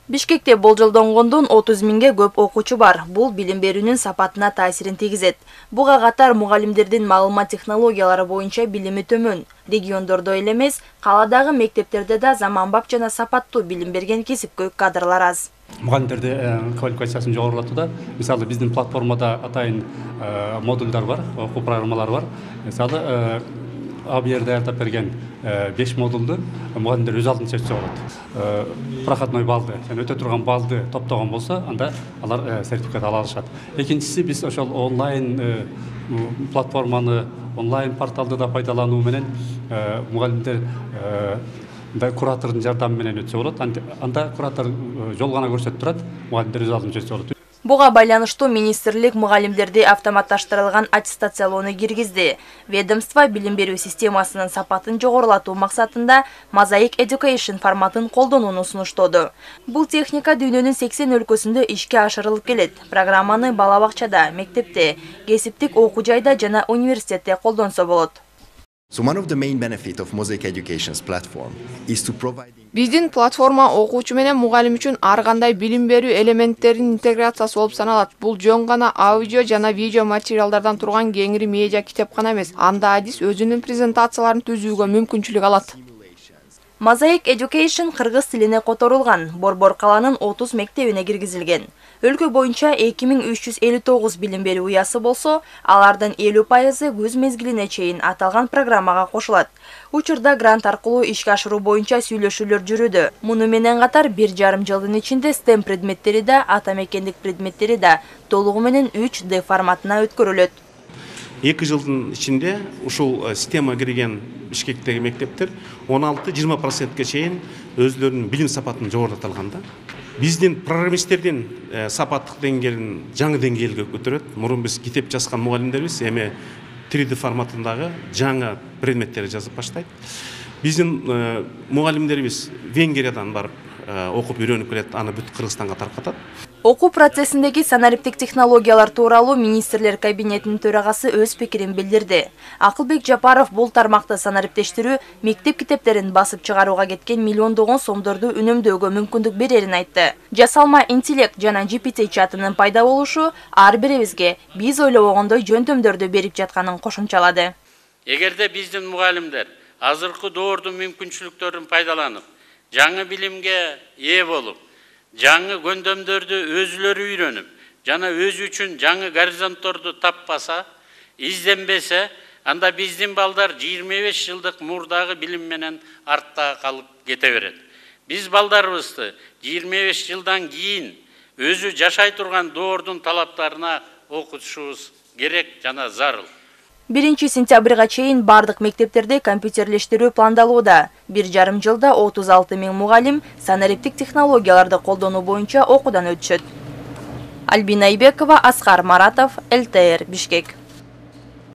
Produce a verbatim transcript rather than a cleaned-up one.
Бишкекте болжолдонгондон отуз миңге көп окуучу бар. Бул билим берүүнүн сапатына таасирин тийгизет. Буга катар мугалимдердин маалымат технологиялары боюнча билими төмөн. Региондордо эле эмес, каладагы мектептерде да заманбап жана сапаттуу билим берген кесипкөй кадрлар аз. Мугалимдерди квалификациясын жогорулатууда, мисалы биздин платформада атайын модулдар бар, окуу программалары бар. Мисалы А Б Р'де айтып берген беш модулду мугалимдер өз алдын чечсе болот. Проходной балды, yani өтө турган балды топтогон болсо, анда алар сертификат ала алышат. Экинчиси, биз ошол онлайн платформаны, онлайн порталды да пайдалануу менен мугалимдер да куратордун жардамы менен өтсө болот. Анда куратор жол гана көрсөтүп турат, мугалимдер өз алдын чечсе болот. Буга байланыштуу министрлик мугалимдерди автоматташтырылган аттестациялоону киргизди. Ведомство билим берүү системасынын сапатын жогорулатуу максатында Mosaic Education форматын колдонууну сунуштоду. Бул техника дүйнөнүн сексен өлкөсүндө ишке ашырылып келет. Программаны бала бакчада, мектепте, кесиптик окуу жайда жана университетте колдонсо болот. So one of the main benefits of Mosaic Education's platform is to provide Биздин платформа окуучу менен мугалим үчүн ар кандай билим берүү элементтеринин интеграциясы болуп саналат. Бул жөн гана аудио жана видео материалдардан турган кеңири медиа китепкана эмес. Анда адис өзүнүн презентацияларын түзүүгө мүмкүнчүлүк алат. Mosaic Education кыргыз тилине которулган, Борбор каланын отуз мектебине киргизилген. Өлкө боюнча эки миң үч жүз элүү тогуз билим берүү уясы болсо, алардын элүү пайызы күз мезгилине чейин аталган программага кошулат. Учурда грант аркылуу ишке ашыруу боюнча сүйлөшүүлөр жүрүүдө. Муну менен катар бир жарым жылдын ичинде STEM предметтери да, ата мекендик предметтери да толугу менен үч дэ форматына өткөрүлөт. эки жылдын ичинде ушул система кирген Бишкектеги мектептер он алты жыйырма процентке чейин өзлөрүнүн билим сапатын жогорулата алган да. Биздин программисттердин сапаттык деңгээлин жаңы деңгээлге көтөрөт. Мурун биз китеп жазган мугалимдербиз, эми три дэ форматындагы жаңы предметтерди жазып баштайт. Биздин мугалимдерибиз Венгриядан барып окуп үйрөнүп келет, аны бүт Кыргызстанга таркатат. Окуу процессиндеги санариптик технологиялар тууралуу министрлер кабинетинин төрагасы өз пикирин билдирди. Акылбек Жапаров бул тармакты санариптештирүү мектеп китептерин басып чыгарууга кеткен миллиондогон сомдорду үнөмдөөгө мүмкүндүк берерин айтты. Жасалма интеллект жана Джи Пи Ти чатынын пайда болушу ар бирибизге биз ойлобогондой жөндөмдөрдү берип жатканын кошумчалады. Эгерде биздин мугалимдер азыркы доордун мүмкүнчүлүктөрүн пайдаланып, жаңы билимге ээ болуп, жаңы көндөмдөрдү өзүлөрү үйрөнүп, жана өзү үчүн жаңы горизонтторду таппаса, изденбесе, анда биздин балдар жыйырма беш жылдык мурдагы билим менен артта калып кете берет. Биз балдарыбызды жыйырма беш жылдан кийин өзү жашай турган доордун талаптарына окутушубуз керек жана зарыл. биринчи сентябрга чейин бардык мектептерде компьютерлештирүү пландалууда. Бир жарым жылда отуз алты миң мугалим санариптик технологияларды колдонуу боюнча окуудан өтүшөт. Альбина Айбекова, Аскар Маратов, Эл Тэ Эр, Бишкек.